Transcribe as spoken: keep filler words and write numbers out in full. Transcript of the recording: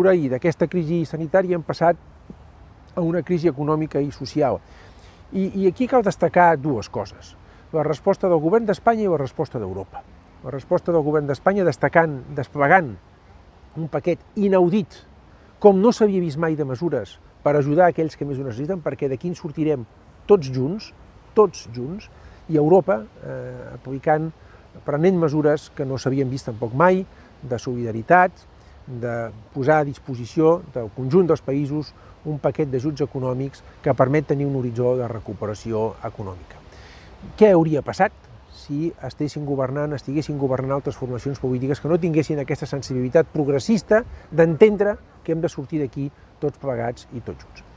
I d'aquesta crisi sanitària hem passat a una crisi econòmica i social. I, i aquí cal destacar dues coses. La resposta del govern d'Espanya i la resposta d'Europa. La resposta del govern d'Espanya destacant, desplegant un paquet inaudit, com no s'havia vist mai de mesures per ajudar aquells que més ho necessiten, perquè d'aquí en sortirem tots junts, tots junts, i Europa eh, aplicant, prenent mesures que no s'havien vist tampoc mai, de solidaritat, de posar a disposició del conjunt dels països un paquet d'ajuts econòmics que permet tenir un horitzó de recuperació econòmica. Què hauria passat si estessin governant, estiguessin governant altres formacions polítiques que no tinguessin aquesta sensibilitat progressista d'entendre que hem de sortir d'aquí tots plegats i tots junts?